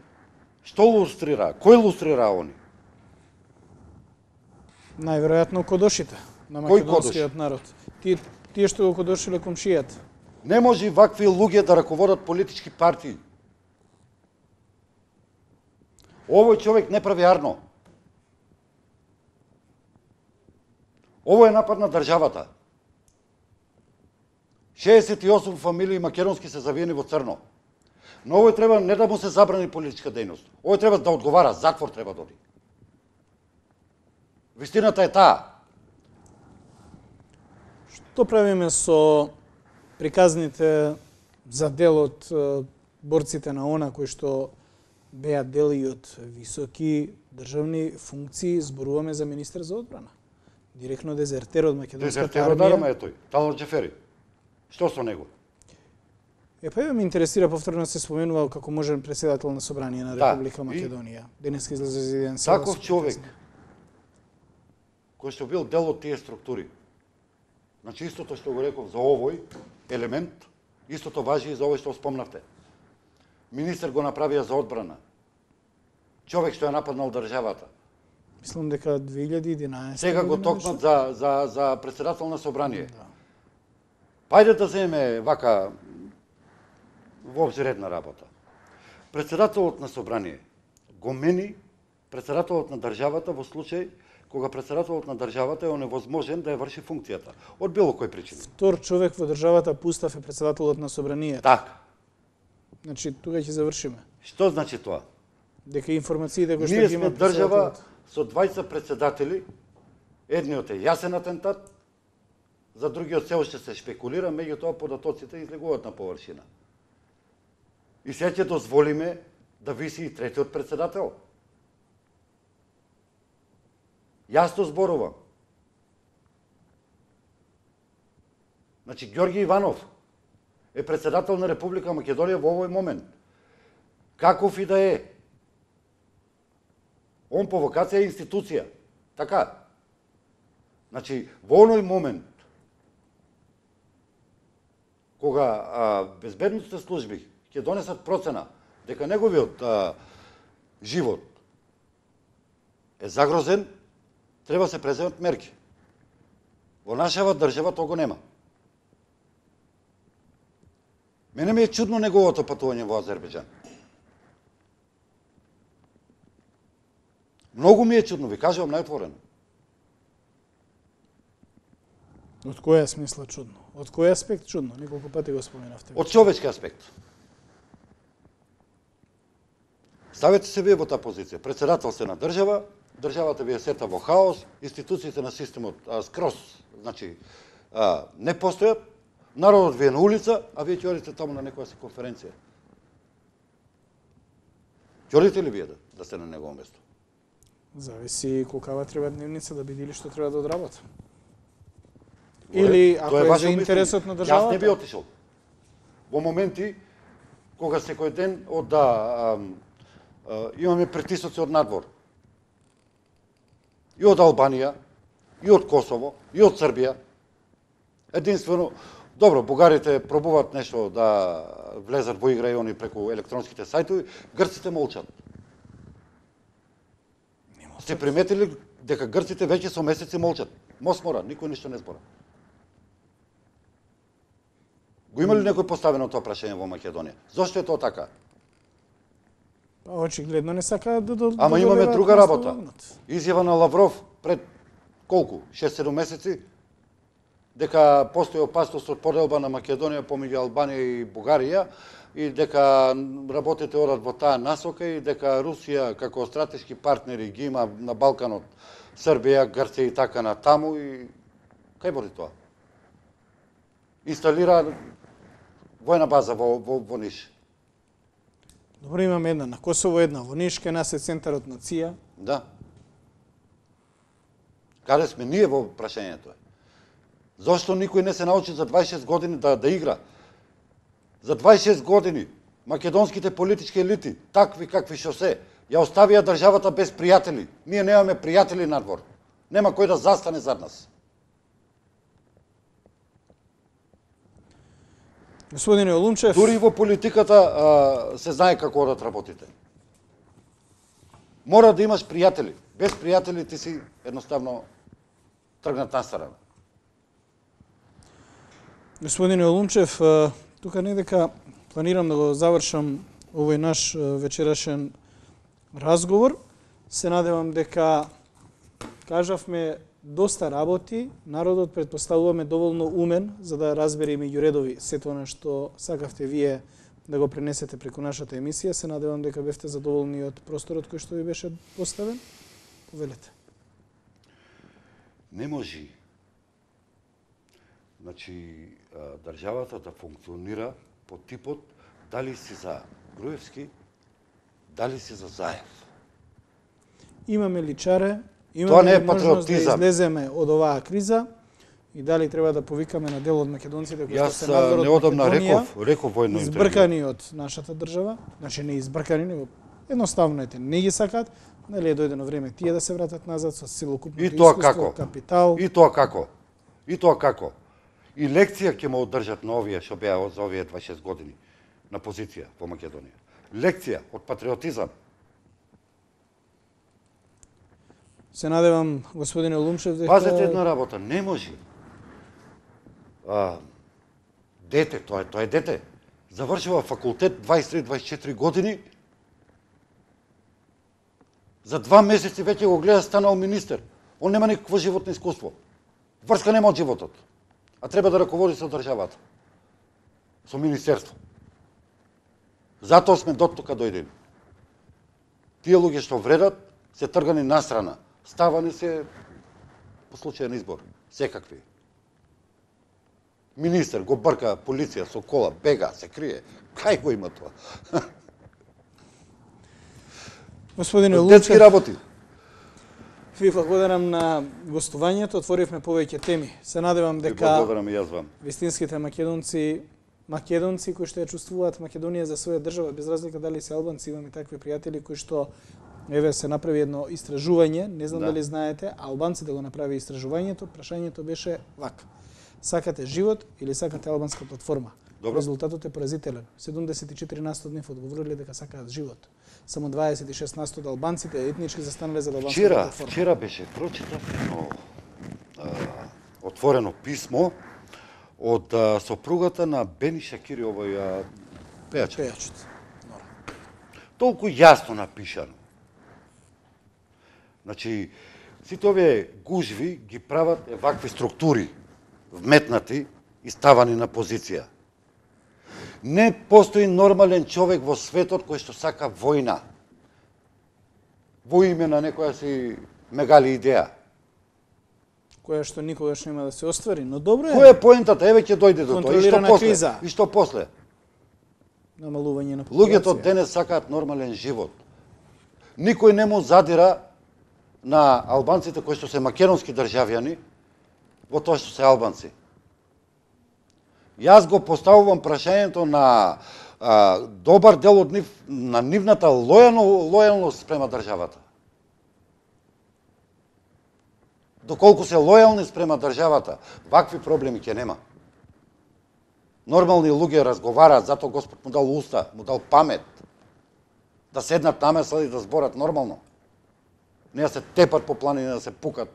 Што лустрира? Кој лустрира они? Најверојатно кодошите на македонскиот народ. Тие што го кодошиле комшијата. Не може вакви луѓе да раководат политички партии. Овој човек не прави арно. Ово е напад на државата. 68 фамилии македонски се завиени во црно. Но овој треба не да му се забрани политичка дејност. Овој треба да одговара, затвор треба да оди. Вистината е таа. Што правиме со приказните за дел од борците на ОНА кои што беа дел и од високи државни функции? Зборуваме за министер за одбрана. Директно дезертер од македонската армија. Дезертер од е тој, Талор Џефери. Што со него? Па ме интересира, повторно се споменува како можен председател на Собрание на Република Македонија. Денеска излезе за еден таков човек кој што бил дел од тие структури. Значи истото што го реков за овој елемент, истото важи и за овој што спомнавте. Министер го направија за одбрана. Човек што е нападнал државата. Мислам дека 2011. Сега го токнат за председател на Собрание. Да. Пајде да земе вака воопшто редна работа. Председателот на Собрание го мени председателот на државата во случај кога председателот на државата е оневозможен да ја врши функцијата од било кој причина. Втор човек во државата пустав е председателот на Собранието. Така. Значи тука ќе завршиме. Што значи тоа? Дека информациите кои што ние ги има сме држава со 20 председатели, едниот е јасен атентат, за другиот се уште се шпекулира, меѓутоа податоците излегуваат на површина. И сега ќе дозволиме да виси и третиот председател. Јасно зборувам. Значи, Ѓорги Иванов е председател на Република Македонија во овој момент. Каков и да е. Он по вокација е институција. Така. Значи, во оној момент, кога безбедносните служби ќе донесат процена дека неговиот живот е загрозен, треба се преземат мерки. Во нашава држава тоа го нема. Мене ми е чудно неговото патување во Азербејџан. Многу ми е чудно, ви кажувам најотворено. Од кој смисла чудно? Од кој аспект чудно? Неколку пати го споменавте. Од човечки аспект. Ставете се вие во таа позиција. Председател се на држава, државата ви е сета во хаос, институциите на системот скрос, значи, не постојат, народот ви е на улица, а вие ќе одите таму на некоја си конференција. Ќе одите ли вие да сте на негово место? Зависи колкава треба дневница да биде или што треба да одработа. Или ако е за интересот на државата. Јас не би отишол. Во моменти кога секој ден имаме притисоци од надвор. И од Албанија, и од Косово, и од Србија. Единствено, добро, бугарите пробуваат нешто да влезат во игра и они преку електронските сајтови, грците молчат. Сте приметили дека грците веќе со месеци молчат? Мосмора, никој ништо не збора. Го има ли некој поставено тоа прашање во Македонија? Зошто е тоа така? Па очигледно не сакаат да Ама имаме друга работа. Изјава на Лавров пред колку? 6-7 месеци дека постои опасност од поделба на Македонија помеѓу Албанија и Бугарија и дека работите одат во таа насока и дека Русија како стратешки партнери ги има на Балканот, Србија, Грција и така на таму и кај води тоа? Инсталира војна база во Ниш. Добро, имаме една на Косово, една во Ниш, кај нас е центарот на ЦИА. Да. Каде сме ние во прашањето? Зошто никој не се научи за 26 години да игра? За 26 години македонските политички елити, такви какви што се, ја оставија државата без пријатели. Ние немаме пријатели надвор. Нема кој да застане зад нас. Господине Олумчев, дури во политиката се знае како одат работите. Мора да имаш пријатели. Без пријатели ти си едноставно тргнат настрана. Господине Олумчев, тука не дека планирам да го завршам овој наш вечерашен разговор. Се надевам дека кажавме доста работи, народот претпоставуваме доволно умен за да разбере меѓу редови сето она што сакавте вие да го пренесете преку нашата емисија. Се надевам дека бевте задоволни од просторот кој што ви беше поставен. Повелете. Не може. Значи, државата да функционира по типот дали си за Груевски, дали си за Заев. Имаме личаре, тоа не е можност да патриотизам. излеземе од оваа криза и дали треба да повикаме на дел од македонците кои што се надвор од неодамна Македонија, реков во едно интервју. избркани од нашата држава, значи не избркани, него едноставно не ги сакаат, нели е дојдено време тие да се вратат назад со целокупното искуство, капитал. И тоа како? И тоа како? И лекција ќе му одржат на овие што беа за овие 26 години на позиција во Македонија. Лекција од патриотизам. Се надевам, господине Олумчев, дека... Пазете една работа, не може. Дете, тоа е дете. Завршува факултет 23-24 години. За 2 месеци веќе го гледа станал министер. Он нема никакво животно искуство. Врска нема од животот. А треба да раководи со државата. Со министерство. Затоа сме доттука дојдени. Тие луѓе што вредат се тргани настрана. Ставани се по случајен избор. Секакви. Министер го брка полиција со кола, бега, се крие. Кај го има тоа? Господине Детски Олумчев, работи. ви благодарам на гостувањето, отворивме повеќе теми. Се надевам Ви дека благодарам и јас вам. вистинските македонци кои што ја чувствуваат Македонија за своја држава, без разлика дали се албанци, имаме такви пријатели кои што еве се направи едно истражување, не знам дали знаете, албанците го направи истражувањето, прашањето беше вака: сакате живот или сакате албанска платформа? Добро. Резултатот е поразителен. 74% од нив одговориле дека сакаат живот. Само 26% од албанците етнички застанале за албанска платформа. Вчера беше прочитав едно отворено писмо од сопругата на Бени Шакири, овој пејачот. Толку јасно напишано. Значи, сите овие гужви ги прават вакви структури, вметнати и ставани на позиција. Не постои нормален човек во светот кој што сака војна. во име на некоја си мегали идеја. Која што никогаш нема да се оствари, но добро е. Која е поентата? Еве ќе дојде до тоа. И што Контролирана после? криза. И што после? Намалување на Луѓето популација. денес сакаат нормален живот. Никој не му задира на албанците кои што се македонски државјани во тоа што се албанци. Јас го поставувам прашањето на добар дел од нив, на нивната лојалност спрема државата. Доколку се лојални спрема државата, вакви проблеми ќе нема. Нормални луѓе разговараат, затоа Господ му дал уста, му дал памет, да седнат намесла и да зборат нормално. Не да се тепат по планини, да се пукат.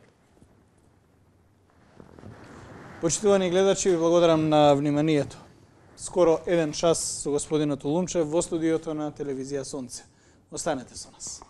Почитувани гледачи, ви благодарам на вниманието. Скоро 1 час со господинот Улумчев во студиото на телевизија Сонце. Останете со нас.